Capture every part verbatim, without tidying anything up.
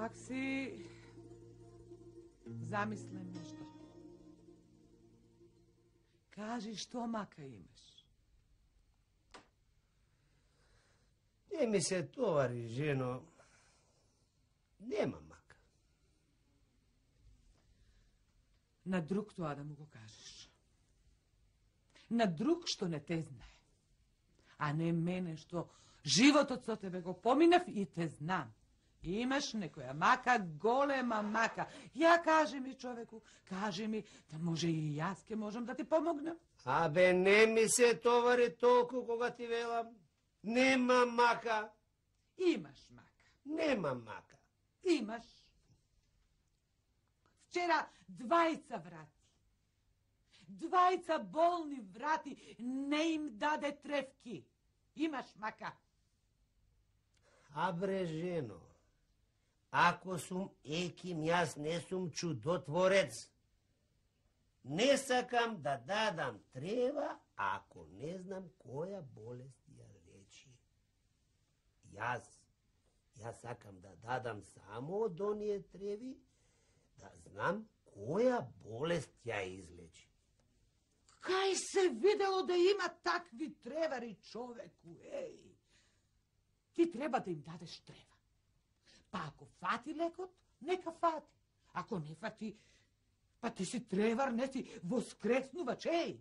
Пак си замислен нешто. Кажи што мака имаш. Не ми се товари, жено. Нема мака. На друг тоа да му го кажеш. На друг што не те знае. А не мене што животот со тебе го поминав и те знам. Имаш некоја мака, голема мака. Ја кажи ми, човеку, кажи ми, да може и јас ке можам да ти помогнам. Абе, не ми се товари толку кога ти велам. Нема мака. Имаш мака. Нема мака. Имаш. Вчера двајца врати. Двајца болни врати, не им даде тревки. Имаш мака. А бре, жено, ако сум еким, јас не сум чудотворец. Не сакам да дадам трева, ако не знам која болест ја лечи. Јас, јас сакам да дадам само од оние треви, да знам која болест ја излечи. Кај се видело да има такви тревари, човеку, еј? Ти треба да им дадеш трева. Па ако фати лекот, нека фати. Ако не фати, па ти си тревар, не си воскреснувач, еј?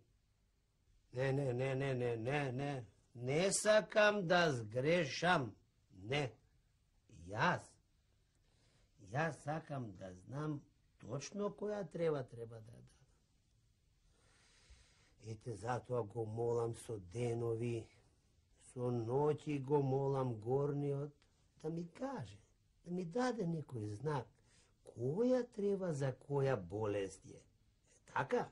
Не, не, не, не, не, не, не. Не сакам да сгрешам. Не. Јас. Јас сакам да знам точно која трева треба да дадам. Ете, затоа го молам со денови, со ноќи го молам горниот да ми каже, да ми даде некој знак, која трева за која болест е. Е така?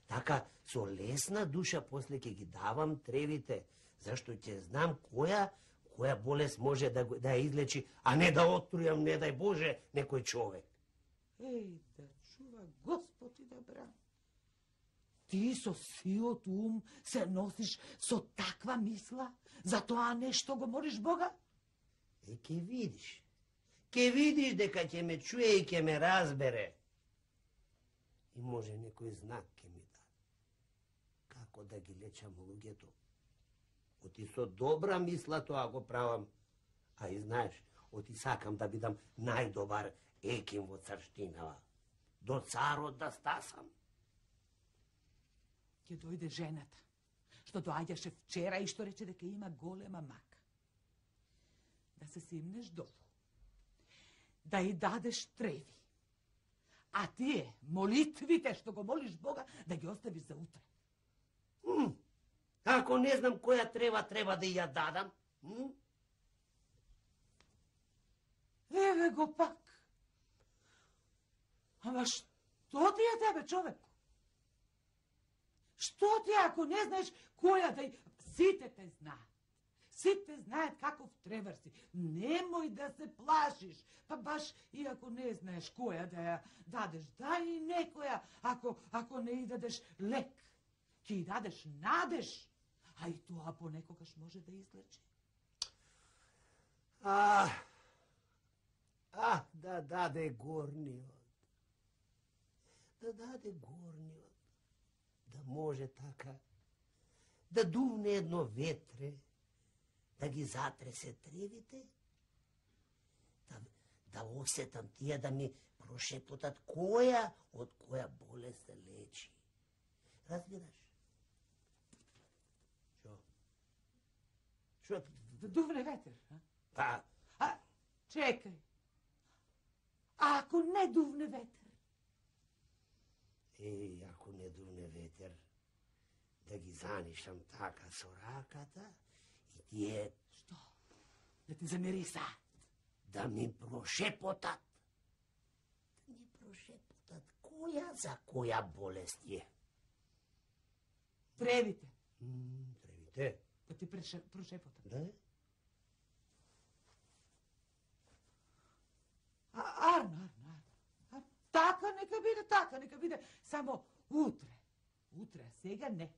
Така, со лесна душа после ќе ги давам тревите, зашто ќе знам која, која болест може да, да ја излечи, а не да отрујам, не дај Боже, некој човек. Еј, да чува Господ и да брани. Ти со сиот ум се носиш со таква мисла, за тоа нешто го молиш Бога? Е, ке видиш. Ке видиш дека ќе ме чуе и ќе ме разбере. И може некој знак ке ми даде. Како да ги лечам луѓето. Оти со добра мисла тоа го правам. А и знаеш, оти сакам да бидам најдобар еким во царштинава. До царот да стасам. Ќе дојде жената, што доаѓаше вчера и што рече дека има голема мака. Да се симнеш долу, да и дадеш треви, а тие молитвите што го молиш Бога да ги оставиш за утре. М? Ако не знам која трева треба да ја дадам? М? Еве го пак. Ама што ти е тебе, човеку? Што ти ако не знаеш која да... Сите те знаат. Сите знаат каков тревар си. Немој да се плашиш. Па баш и ако не знаеш која да ја дадеш, дај и некоја, ако, ако не и дадеш лек. Ти дадеш надеж, а и тоа понекогаш може да излечи. А, а, да даде горниот. Да даде горниот. Да може така, да дувне едно ветре, да ги затресе тревите, да, да осетам тие да ми прошепотат која од која болест се лечи. Разбираш? Шо? Шо? Да дувне ветер, а? Па. А, чекај. А ако не дувне ветер? дуне ветер, да ги занишам така со раката и тие... Што? Да ти замирисаат? Да ми прошепотат. Да ми прошепотат која за која болест е. Тревите. М, тревите. Да ти прошепотат. Да? А, арно, арно, арно. Така нека биде, така нека биде. Само утре. Утре, а сега не.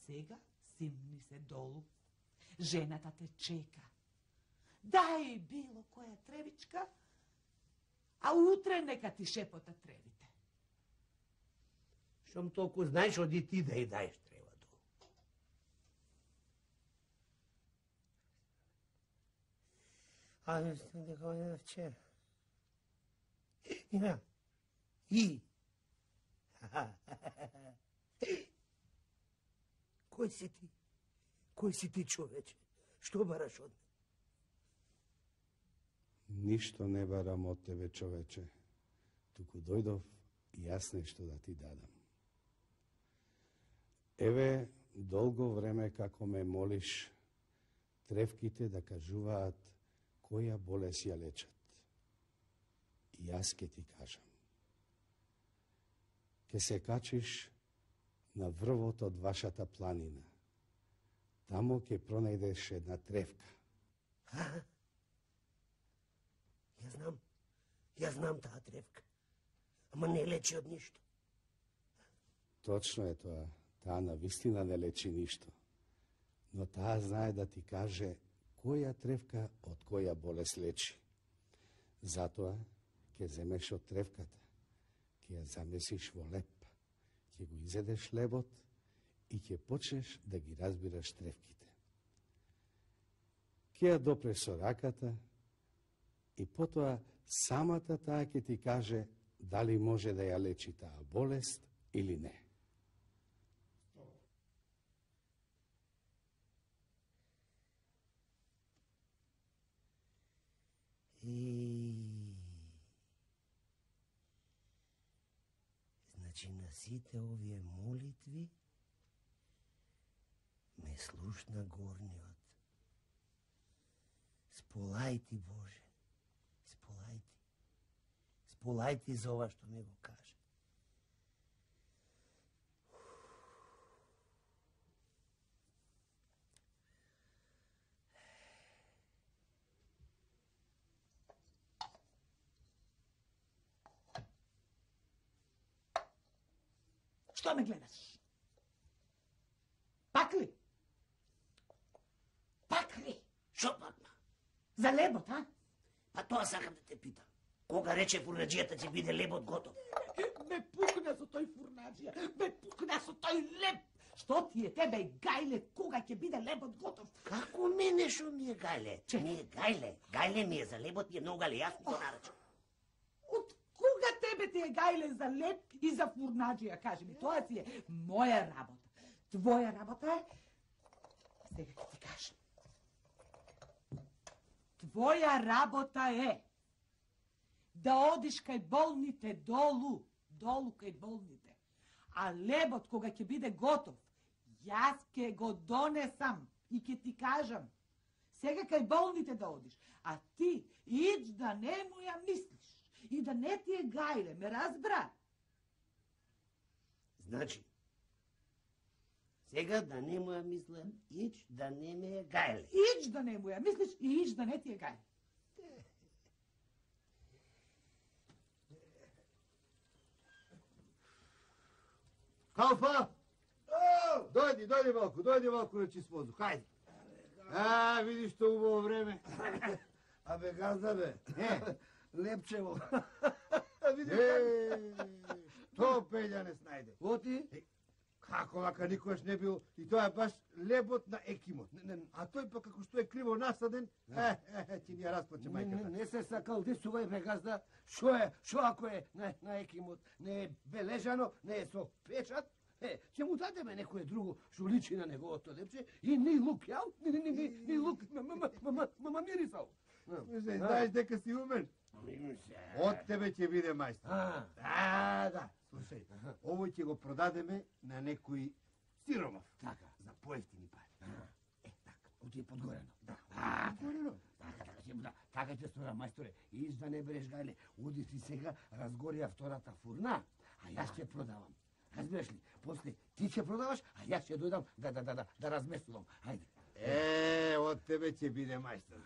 Сега симни се долу. Жената те чека. Дај било која тревичка, а утре нека ти шепота тревите. Шом толку знаеш, оди ти да и даеш трева долу. А мислам дека е вчера. Има. И. Кој си ти? Кој си ти, човече? Што бараш од мене? Ништо не барам од тебе, човече. Туку дојдов и јас нешто да ти дадам. Еве, долго време како ме молиш, тревките да кажуваат која болест ја лечат. И јас ке ти кажам. Ке се качиш на врвот од вашата планина. Тамо ке пронајдеш една тревка. А? Јас знам, јас знам таа тревка. Ама не лечи од ништо. Точно е тоа. Таа на вистина не лечи ништо. Но таа знае да ти каже која тревка од која болест лечи. Затоа ќе земеш од тревката, ќе ја замесиш во леп, ќе го изедеш лебот и ќе почнеш да ги разбираш тревките. Ќе ја допреш со раката и потоа самата таа ќе ти каже дали може да ја лечи таа болест или не. И... Значи на сите овие молитви ме слушна горниот. Сполај ти, Боже, сполај ти. Сполај ти за ова што ми го каже. Што ме гледаш? Пак ли? Пак ли? Шо пакна? За лебот, а? Па тоа сакам да те питам. Кога рече фурнаджијата ќе биде лебот готов? Ме пукна со тој фурнаджија, ме пукна со тој леб. Што ти е тебе, гајле, кога ќе биде лебот готов? Како мене шо ми е гајле? Ми е гајле. Гајле ми е за лебот, ми е многу гајле, јас ми го нарачам. Од кога тебе ти е гајле за леб и за фурнаджија? Кажи ми, тоа си е моја работа. Твоја работа е... Сега ќе ти кажам. Твоја работа е да одиш кај болните долу, долу кај болните. А лебот кога ќе биде готов, јас ќе го донесам и ќе ти кажам. Сега кај болните да одиш, а ти ич да не му ја мислиш и да не ти е гајле, ме разбра? Значи, сега да не му ја мислам, ич да не ме е гајле. Ич да не му ја мислиш и ич да не ти е гајле. Калфа! Дојди, дојди малку, дојди малку на чист воздух, хајде. А, видиш што убаво време. Абе, газда бе, Е, Лепчево. видиш како? Тоа Пеља не снајде. Оти? Како вака никогаш не бил, и тоа е баш лебот на екимот. Не, не, а тој па како што е криво насаден, е, е, е, ќе ни ја расплаче Не, не, мајката. не се сакал дисувај бе, газда. Шо е, шо ако е на, на екимот? Не е бележано, не е со печат? Е, ќе му дадеме некое друго што личи на неговото лепче и ни лук, јал? Ни, ни, ни, ни лук, мама, мама, мама мирисал. Мисле, знаеш дека си умен? Од тебе ќе биде мајстор. А, Да, да. Слушай, Слушај, овој ќе го продадеме на некој сиромав. Така. За поевтини пари. Е, така, оти е подгорено. Да. А, подгорено. Така, така ќе да, така ќе стора, мајсторе. Иш да не береш гајле, оди си сега, разгорија втората фурна, а јас ќе продавам. Разбираш ли? После ти ќе продаваш, а јас ќе дојдам да да да да, да разместувам. Ајде. Е, од тебе ќе биде мајстор.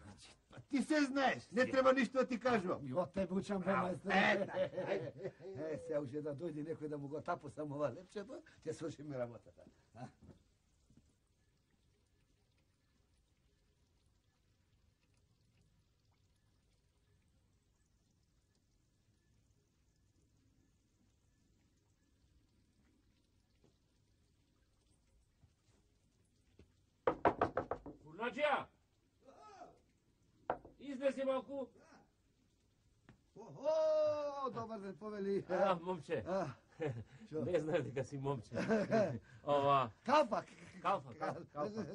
Па ти се знаеш, не треба ништо да ти кажувам. И од тебе учам бе, мајсторе. Е, се уште да дојде некој да му го тапусам ова лепчето, ќе свршиме работата. А? Фурнаџија! Излези малку. Охо, добар ден, повели. А, момче. А, шо? Не знаеш дека си момче. Ова, Калфа. калфа, калфа, калфа.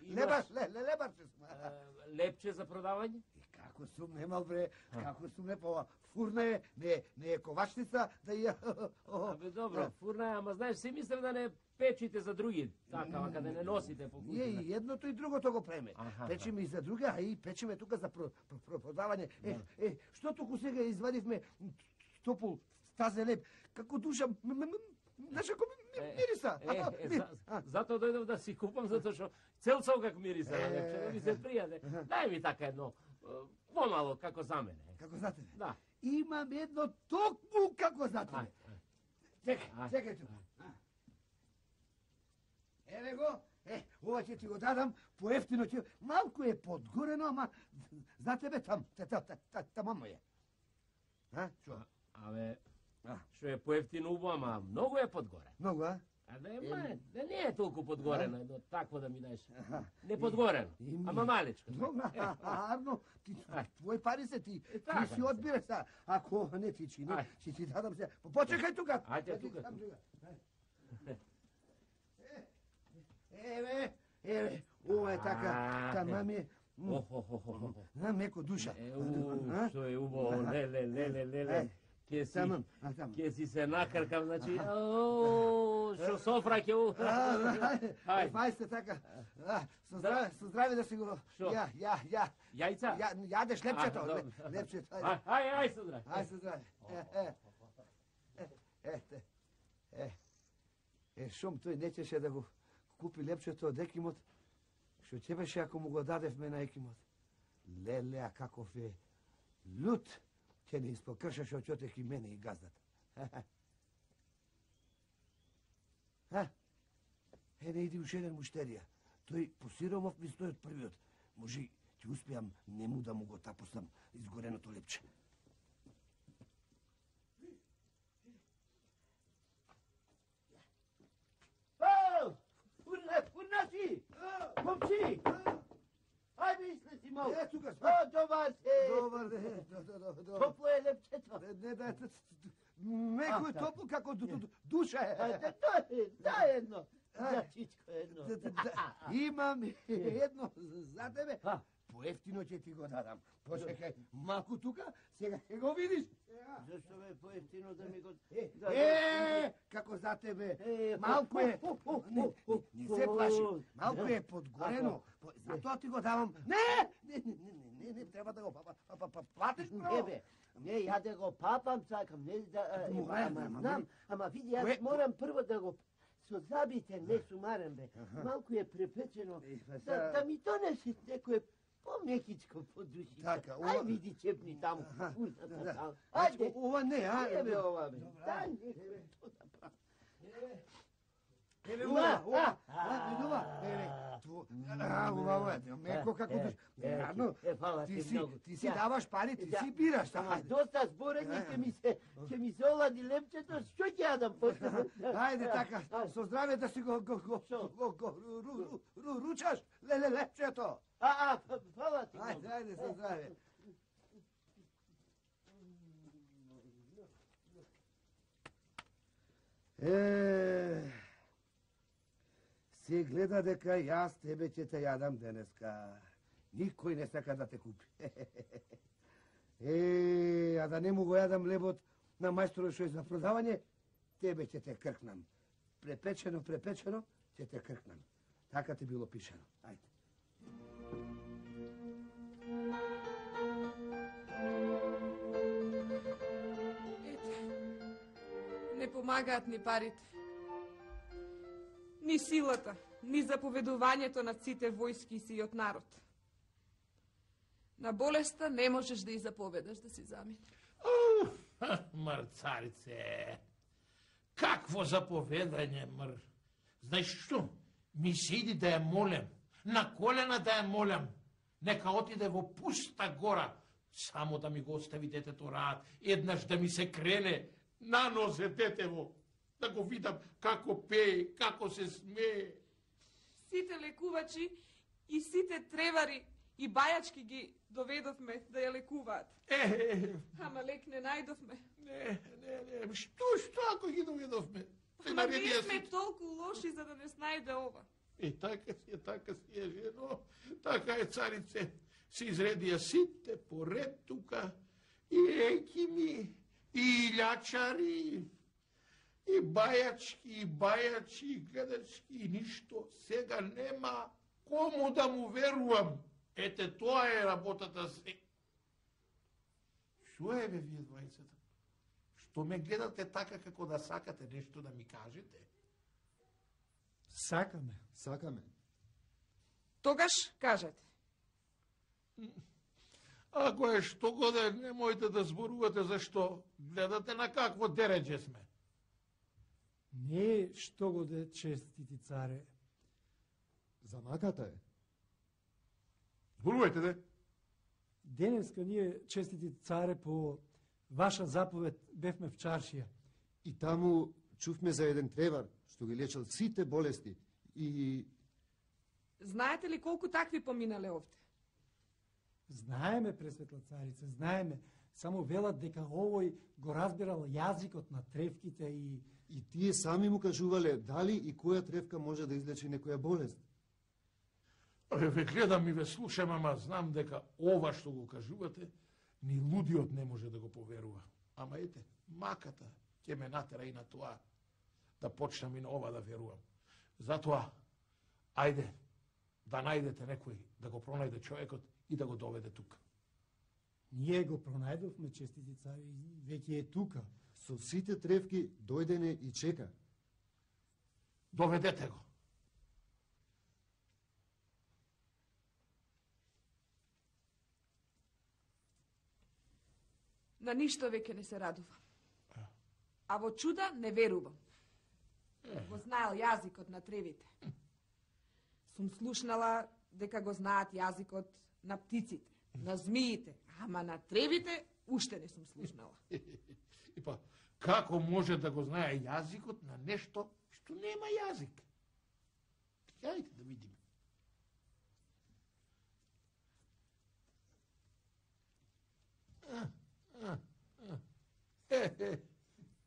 Лебаш, ле, ле, лебарче сме. Е, лепче за продавање? И како сум немал бре, како сум не па фурна е, не, не е ковачница, да ја... Абе добро, фурна е, ама знаеш, си мислев да не печите за други, така, ама да не носите по Ние куќата. и едното и другото го преме. Аха. Печеме и за други, а и печеме тука за про, про, про, продавање. Е, е, што туку сега извадивме топол тазе леп, како душа, м- м- м- знаеш како ми- ми- мириса. Е, А, е, ми- за, а, затоа дојдов да си купам, затоа што цел сокак мириса на Е. лепче, да ми се пријаде. Дај ми така едно, е, помало, како за мене. Како знаете? Да. Имам едно токму како знаете. Ај, Чекај, Ај. чекај тука. Еве го, е, ова ќе ти го дадам, поевтино ќе... Малку е подгорено, ама за тебе там, та, та, та, та, тамамо е. А, шо? Абе, А. што е поевтино убаво, ама многу е подгоре. Многу, а? А да е ма, да не е толку подгорено, едно такво да ми даеш. Аха. Не подгорено, И ми- ама малечко. Многу, а, а, Арно, ти, Ај. твои пари се ти, Е, ти така си се. одбираш са. Ако не ти чини, Ај. ќе ти дадам се. Почекај тука. Ајде, Да ти тука, дам тука. Ај. Е, Еве, еве, ова е така, А, тамам е, м, Охохохохо. на меко душа. Е, у, А? што е убаво, леле, леле, леле. Ај. Ке си, Тамам, а тамам. ке си се накркам, значи, о, што софра ќе у... Ај, Ај. Вај се така. А, со здраве, со здраве да си го. Шо? Ја, ја, ја. Јајца? Ја, јадеш лепчето, А, ле- добро. лепчето. Ај, Ајде. ај, ај, судра. Ај со здраве. Е, е. Е, е, е. Е, шум тој не чеше да го купи лепчето од Екимот, што ќе беше ако му го дадевме на Екимот. Леле, а каков е лут, ќе не испокршаше очотек и мене и газдата. А? Е, не иди уште еден муштерија. Тој по сиромов ми стои од првиот. Може, ќе успеам нему да му го тапосам изгореното лепче. О, фурна, фурна си! Момчи! Ајде излези малку. Е, тука сме. О, добар се! Добар ден, до- до- до- до- Топло е лепчето. Не, не, да, меко е А, топло како ду- ду- душа е. Ајде, дај, дај едно. Ај. За чичко едно. Да, да, да. Имам едно за тебе. А. Поевтино ќе ти го дадам. Почекај малку тука, сега ќе го видиш. Зашто бе поевтино да ми го... Е, Да, е, како за тебе. Е, Малку е. о, о, о, Не, о, о, не, не се плаши. о, Малку да. е подгорено. По- Затоа ти го давам. Не, не, не, не, не, не, не треба да го па- па- па- па- платиш Не право. бе, не, ја да го папам сакам, не да... а, Ама, е, ама, Ама знам, ама види, јас Кое- морам прво да го... Со забите не сумарам бе, малку е препечено, Е, па да, сега- да ми донесе некој по-мекичко по душите. Така, ова- Ај види чепни таму, Аха, фурната да, да. таму. Значи, Ајде, ова не, а? не бе ова бе, Добра. дај некој то да прави. Еве Ума, ова, ова, а, а, видува, еве, ту, а, ова е, меко како Е, душ. е, Нарно, е, фала ти ти си, многу. ти си Ја. даваш пари, ти Да. си бираш, Ама ајде. доста зборење ќе ми се, ќе ми се олади лепчето, што ќе јадам после? Ајде така, со здраве да си го го го Шо? го го ру- ру- ру- ручаш, леле лепчето. А, а, ф- фала ти многу. Ајде, ајде, со здраве. Е, се гледа дека јас тебе ќе те јадам денеска. Никој не сака да те купи. Е, а да не му го јадам лебот на мајсторот што е за продавање, тебе ќе те кркнам. Препечено, препечено, ќе те кркнам. Така ти било пишано. Ајде. Не помагаат ни парите. Ни силата, ни заповедувањето на сите војски си од народ. На болеста не можеш да и заповедаш да си замине. Мрцарице, какво заповедање, мр? Знаеш што? Ми се иди да ја молем, на колена да ја молем. Нека отиде во пуста гора, само да ми го остави детето рад, еднаш да ми се крене на нозе детево, да го видам како пее, како се смее. Сите лекувачи и сите тревари и бајачки ги доведовме да ја лекуваат. Е, Ама лек не најдовме. не, не, не, што, што ако ги доведовме? Се Ма ние наредија сме си. толку лоши за да не снајде ова. И така си е, така си е, жено, така е, царице. Се изредија сите поред тука, и екими, и илјачари, и бајачки, и бајачи, и гледачки, и ништо. Сега нема кому да му верувам. Ете, тоа е работата се. Шо е, бе, вие двајцата? Што ме гледате така како да сакате нешто да ми кажете? Сакаме. Сакаме. Тогаш кажете. Ако е што годе, немојте да зборувате зашто гледате на какво дереđe сме. Не е што го де честити царе. Замаката е. Зборувајте, де. Денеска ние, честити царе, по ваша заповед бевме в чаршија. И таму чувме за еден тревар, што ги лечел сите болести. И Знаете ли колку такви поминале овде? Знаеме, пресветла царице, знаеме. Само велат дека овој го разбирал јазикот на тревките и... И тие сами му кажувале дали и која тревка може да излечи некоја болест. Абе, ве гледам и ве слушам, ама знам дека ова што го кажувате, ни лудиот не може да го поверува. Ама ете, маката ќе ме натера и на тоа, да почнам и на ова да верувам. Затоа, ајде, да најдете некој, да го пронајде човекот и да го доведе тука. Ние го пронајдовме, честити царе, и веќе е тука. Со сите тревки дојдене и чека. Доведете го. На ништо веќе не се радувам. А во чуда не верувам. Го знаел јазикот на тревите. Сум слушнала дека го знаат јазикот на птиците, на змиите, ама на тревите уште не сум слушнала. И па, како може да го знае јазикот на нешто што нема јазик? Јајте да видиме. А, а, а. Е, е,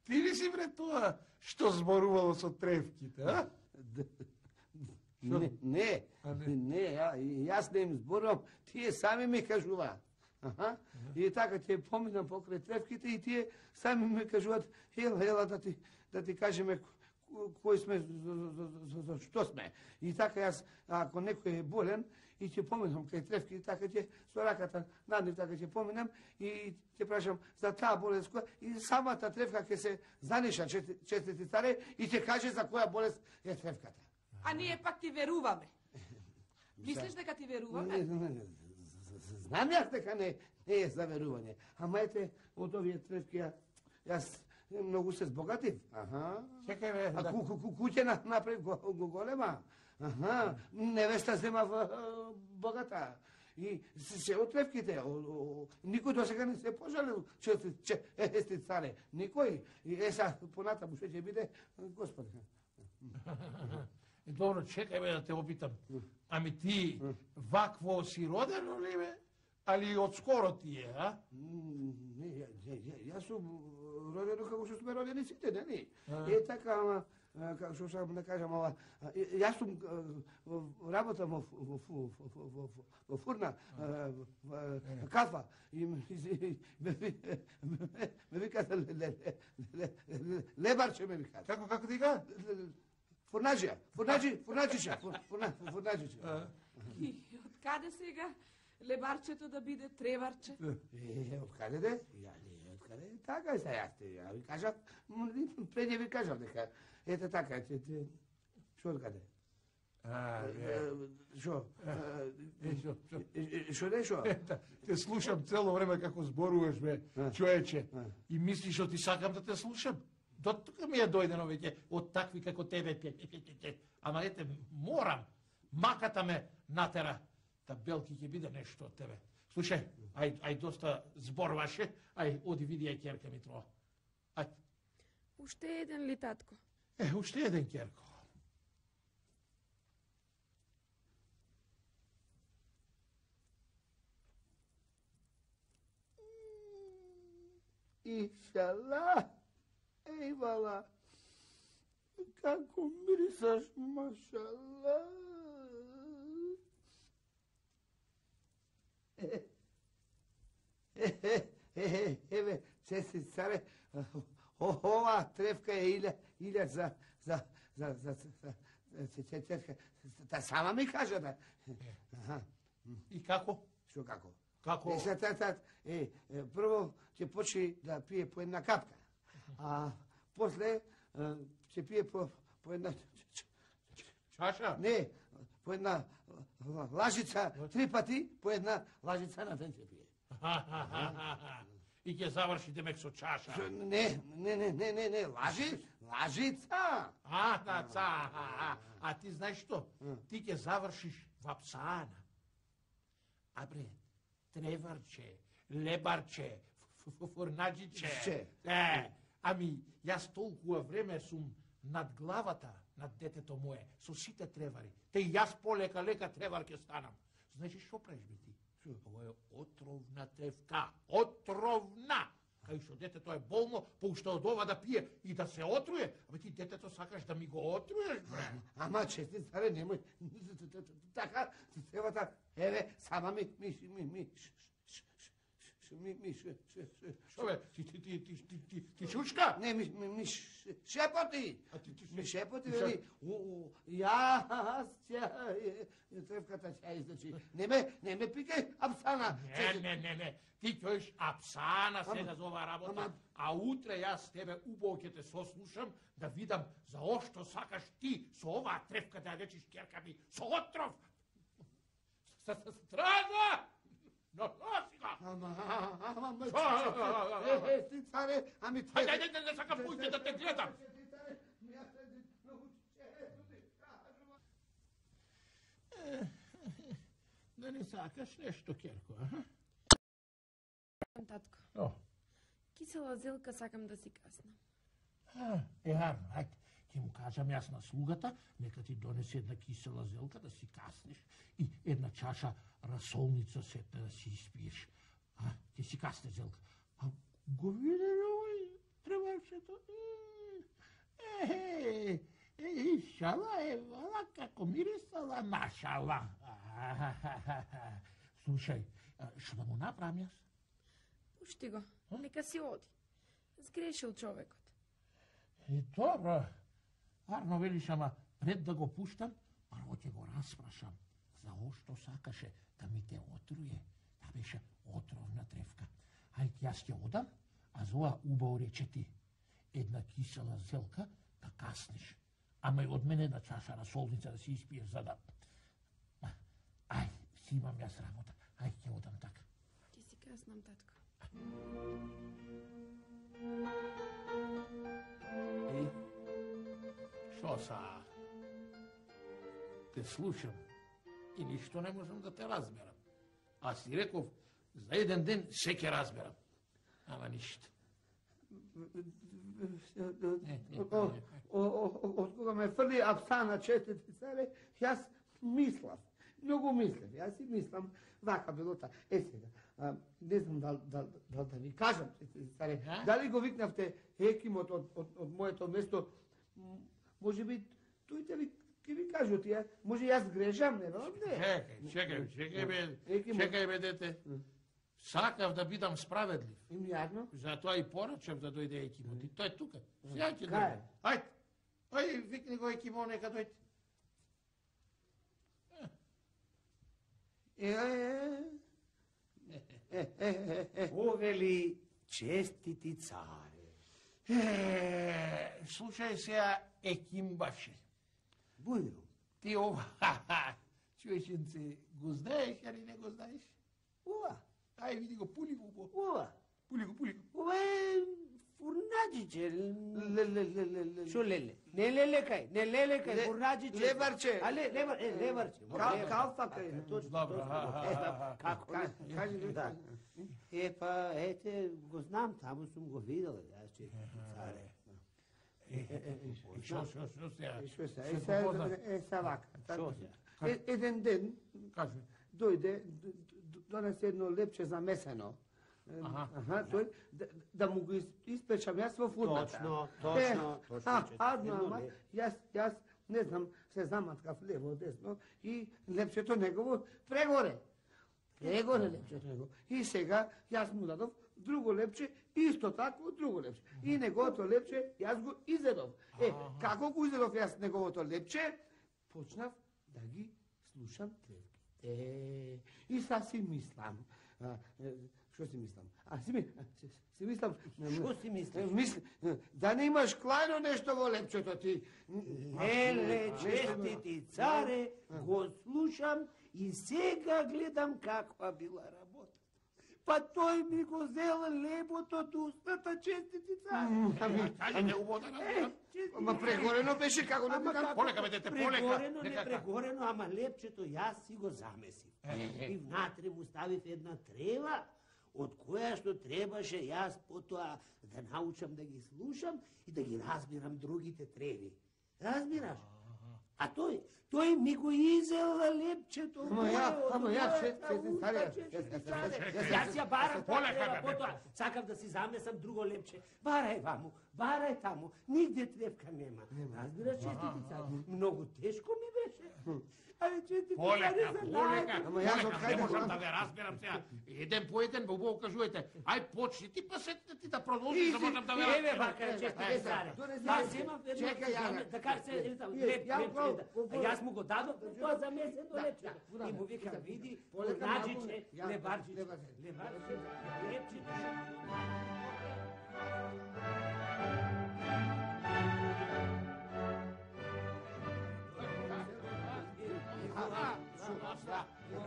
ти ли си бре тоа што зборувало со тревките, а? Не, не, не, ја, јас не им зборувам, тие сами ми кажуваат. Аха. И така ќе поминам покрај тревките и тие сами ми кажуваат, ела, ела да ти да ти кажеме кој сме, за, за, за што сме. И така јас, ако некој е болен, и ќе поминам кај тревки, и така ќе со раката наднив, така ќе поминам и ќе прашам за таа болест која, и самата тревка ќе се заниша, честити царе, и ќе каже за која болест е тревката. А ние пак ти веруваме. Мислиш дека ти веруваме? Не, не, не, знам јас дека не, не е за верување. Ама ете, од овие тревки, ја, јас многу се збогатив. Аха. Чекај, бе, А да. ку, ку, ку, куќе на, направив го, го голема. Аха. Невеста зема в а, богата. И се, се од тревките. О, о, никој до сега не се пожалил, че, че е сте царе. Никој. И е са, понатаму што ќе биде, Господи. И добро, чекај бе да те опитам. Ами ти вакво си родено ли бе? Али од скоро ти е, а? Не, ја, ја, ја, јас сум родено како што сме родени сите, нели? Е така, ама како што сам да кажам, ова јас сум работам во во во во фурна кафа и ме вика лебарче ме вика. Како како ти га? Фурнаџија, фурнаџи, фурнаџиша, фурнаџиша. И од каде сега лебарчето да биде треварче? Е, од каде де? Ја не, од каде? Така е са јас те, ја ви кажав, пред ја ви кажав дека, ете така, ете, шо од каде? А, Шо? шо, шо? Шо не шо? Те слушам цело време како зборуваш, бе, човече, и мислиш што ти сакам да те слушам? До тука ми е дојдено веќе од такви како тебе. Ама ете, морам, маката ме натера, та Белки ќе биде нешто од тебе. Слушај, ај, ај доста зборваше, ај, оди види ај керка Митрова. Ај. Уште еден ли, татко? Е, уште еден керко. Ишала, ејвала, како мирисаш, машала. Еве, сестри царе, ова тревка е илја, илја за, за, за, за, за, цетка, та сама ми кажа да. И како? Што како? Како? Е, са, та, та, е, прво ќе почне да пие по една капка, а после ќе пие по, по една... Чаша? Не, по една лажица, три пати, по една лажица на ден ќе пие. И ќе заврши демек со чаша. Не, не, не, не, не, не, лажи, лажица. А, да, ца, а, а ти знаеш што? Ти ќе завршиш во псана. А бре, треварче, лебарче, фурнаџиче. Е, ами, јас толкува време сум над главата над детето мое, со сите тревари. Те и јас полека-лека тревар ќе станам. Знаеш што правиш бе ти? Ова е отровна тревка. Отровна! Кај што детето е болно, поуште од ова да пие и да се отруе, абе ти детето сакаш да ми го отруеш, бре. Ама чести царе, немој. Така, тревата, еве, сама ми, ми, ми, ми, ми, ми, Што бе, ти, ти, ти, ти, ти, ти, ти шучка? Не, ми, ми, ми шепоти. Ми шепоти, Ша- вели, јас ќе, тревката ќе излечи. Не ме, не ме пикај, апсана. Не, не, не, не. Ти ќоиш апсана сега за оваа работа, ама- а утре јас тебе убаво ќе те сослушам да видам за ошто сакаш ти со оваа тревка да ја речиш керка ми со отров. Стража! Но, носи го! Ама, ама, ама, Ша- е, е, ти царе, ами те... Ајде, ајде, не, не сакам пујте да те гледам. Да не сакаш нешто, Керко, а? Татко, О, кисела зелка сакам да си каснам. а, е, арно, ајде. Ќе му кажам јас на слугата, нека ти донесе една кисела зелка да си каснеш и една чаша расолница сетне да си испиеш. А, ќе си касне зелка. А го виде овој треварчето? Е, е, е, шала е, вала како мирисала, машала. Слушај, што да му направам јас? Пушти го, нека си оди. Сгрешил човекот. И добро. Арно велиш, ама пред да го пуштам, прво ќе го распрашам за ошто сакаше да ми те отруе. Та беше отровна тревка. Ајде јас ќе одам, а за ова убаво рече ти. Една кисела зелка да каснеш. Ама и од мене една чаша расолница да си испиеш за да... Ај, си имам јас работа. Ајде ќе одам така. Ќе си каснам, татко. И? Шо са? Те слушам и ништо не можам да те разберам. А си реков, за еден ден се ќе разберам. Ама ништо. Од кога ме фрли апсана четите царе, јас мислам, многу мислам, јас си мислам, вака било та. Е сега, а, не знам дал, дал, дал да ви кажам, царе, дали го викнавте Екимот од, од, од моето место, може би тој те ви ќе ви кажу тие, може јас грешам, не знам, не. Чекај, чекај, чекај бе, чекај бе дете. Сакав да бидам справедлив. Им јадно? Затоа и порачав да дојде Екимот. И тој е тука. Сега ќе Кај? дојде. Ајде, ајде, викни го Екимо, нека дојде. Е, е, е, е, Повели честити царе. Е, слушај сега, Екимбаше. Бујно. Ти ова, чуешенце, го знаеш, али не го знаеш? Ова. Ај, види го, пули го убо. Ова. Пули го, пули го. Ова е фурнаџиче. ле, ле, ле, ле, ле. Шо леле? Не леле кај, не леле кај, Ле- фурнаџиче. лебарче. А ле, лебар, е, лебарче. Кал- калфа кај. Точно, Добро, точно. а, Е, а, па, како? Кажи, кажи, Да. Е, па, ете, го знам, таму сум го видел, јас честити царе. И шо, шо, шо сега? Е, шо се, Се е, се, попозна. е, се вака. Шо се? Е, еден ден Кажи. дојде, д- д- донесе едно лепче замесено. Е, Аха. Аха, тој, да, да му го ис- испечам јас во фурната. Точно, точно, Е, точно, а, че- адно, едно ама, ле- јас, јас, не знам, се заматкав лево, десно и лепчето негово прегоре. Прегоре лепчето негово. И сега јас му дадов друго лепче, исто тако друго лепче. И неговото лепче јас го изедов. Е, како го изедов јас неговото лепче, почнав да ги слушам тревките. И са си мислам, а, е, што си мислам? А си, ми, си, си мислам... Што си мислиш? Мисли, да не имаш клајно нешто во лепчето ти. Еле, честити царе, го слушам и сега гледам каква била работа. Па тој ми го зел лебото од устата, честити царе. Кажи, не убо да разбирам. Ама прегорено беше како да Ама викам. како? Полека, бе, дете, полека. Прегорено, не Нека- прегорено, ама лепчето јас си го замесив. И внатре му ставив една трева, од која што требаше јас потоа да научам да ги слушам и да ги разбирам другите треви. Разбираш? А тој, тој ми го изел лепчето. Ама ја, ама ја, од че- мојата че- царе, уста, че- честити че- царе. че- Јас јас ја барам таа Полека, трева, бе, бе, потоа сакав да си замесам друго лепче. Барај ваму, барај таму, нигде тревка нема. Разбираш, честити царе, многу тешко ми беше. Ајде, честити Полека, царе, за полека, најден. Ама јас од полека, кај не да можам знам? да ве разберам сега. Еден по еден, бе, убаво кажувате. Ај, почни ти, па сетне ти да продолжиш, да можам да ве Еве разберам. вака, честити царе. донеси Аз лепче. имам едно, Чекај, ја, да кажа се, ето, Вие, леп, ја лепче, го- да. го- А јас му го дадов, тоа замесено Да, лепче. да, И му да, викам, да, види, полека, наđiće, ја, лебарчиće, лебарче. лебарче, лепче.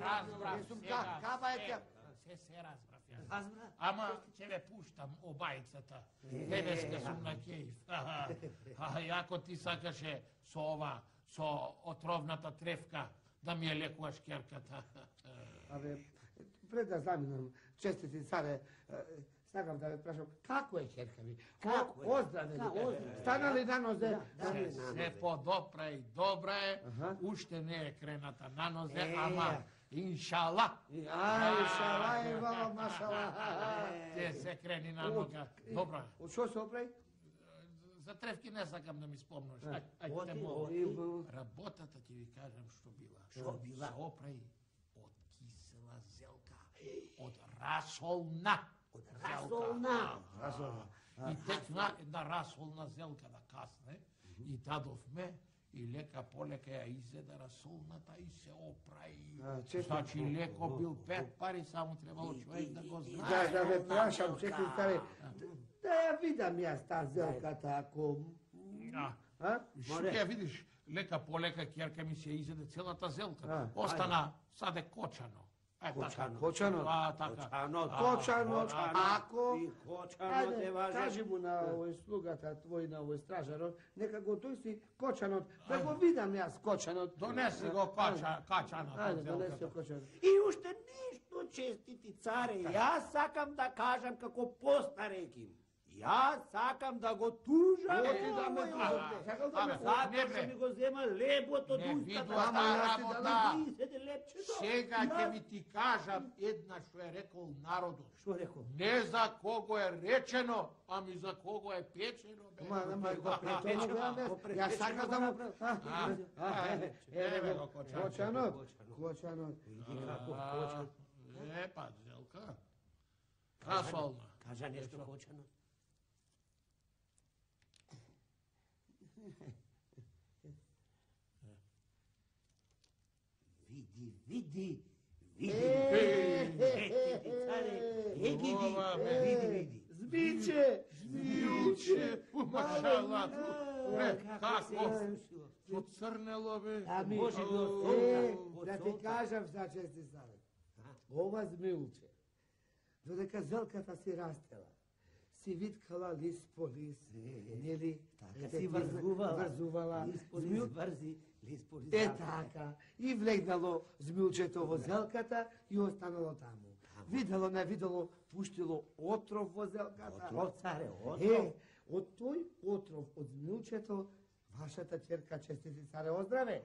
Разбрав Јесум сега. ка- каба е се- тя. Се, се разбрав ја. Разбра? Ама ќе ве пуштам обајцата. Денеска сум на кејф. А јако ти сакаше со ова, со отровната тревка, да ми ја лекуваш керката. Абе, пред да заминам, честити царе, е, сакам да ве прашам, како е ќерка ви? Како е? Оздраве Да, ли? оздраве. Стана ли на нозе? Да, Се, да. се по-добра и добра е, Аха. уште не е крената на нозе, Е, ама иншала. Ај, шала и вала, машала. Те се крени на нога. Добра. Од што се оправи? За тревки не сакам да ми спомнаш. Ај, ај, Оти, те молам. оти. Работата ќе ви кажам што била. Што била? Се оправи од кисела зелка, од расолна. Од зелка. расолна. Расолна. И текна една расолна зелка да касне и дадовме и лека полека ја изеда расолната и се оправи. А, честно. Значи леко бил пет пари, само требало човек да го Да, знае. да ве прашам, честити царе, да ја видам јас таа зелката, ако... А, А? Што ќе ја видиш, лека полека ќерка ми се изеде целата зелка. А, Остана саде кочано. Е, така. Кочано. А, така. Кочано, А, Кочано, кочано. ако... И кочано Ајде, те важе. кажи му на овој слугата твој, на овој стражарот, нека го тој си кочанот, да го видам јас кочанот. Донеси го кача, качанот. Ајде, од донеси зелката. го кочанот. И уште нешто, честити царе, јас сакам да кажам како постареким. Јас сакам да го тужам. Оти да ме овој тужам. овде. Сакам да ме Затоа Не, што бе. ми го зема лебот од Не устата. видува Ама таа јас ти работа. дадам десет лепчето. Сега ќе ви ти кажам една што е рекол народот. Што рекол? Не за кого е речено, ами за кого е печено. бе. Ма, ама го Препечено, препечено, го јас препечено сакам го да му... направи. А, А, а, а, е, еве еве го го, Кочанот. Кочанот, Кочанот. Види како А, Кочан. Е, па, Зелка. Касолна. Кажа нешто Кочанот. Види, види, види. Ети, царе, е ги Ова, бе. види, види. Збиче! Змијуче, умашала. Бе, како? Слушило. Поцрнело, бе. А може би од Е, солта, да од ти солта. кажам за чести savjet. Ова змилче, додека зелката си растела, си виткала лист по лист, нели? Така Ете, си врзувала. Врзувала. Лист по лист Змил- врзи, лист по лист Е врзи. така. И влегнало змилчето во зелката и останало таму. Видело, не видело, пуштило отров во зелката. Отров, царе, отров. Е, од тој отров од змилчето, вашата ќерка честити царе оздраве.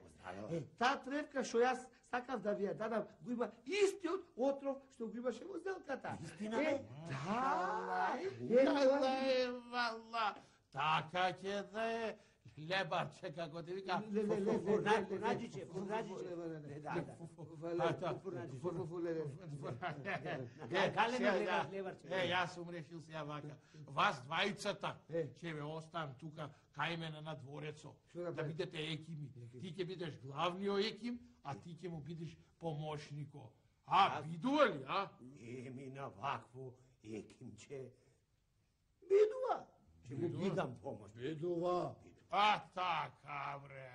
Е, таа тревка што јас сакав да ви ја дадам, го има истиот отров што го имаше во зелката. Истина, Е, бе? да. Е, Така тоа- е, вала. Така ќе да е. Лебарче, како ти вика. Ле, ле, ле, ле, Фурнаџиче, ле, фурнаџиче, ле, фурнаџиче. ле, ле, ле, ле, Да, ле, да. А, да. Фу, фу, фу, ле, ле. Е, Гале сега, ме да. гледаш, леварче. Е, јас сум решил сега вака. Вас двајцата Е. ќе ве оставам тука кај мене на дворецо. Што Да направи? бидете екими. Ти ќе бидеш главниот еким, а ти ќе му бидеш помошнико. А, видува ли, а? Не ми на вакво екимче. Бидува. Ќе му бидам помош. Бидува. А, така, бре.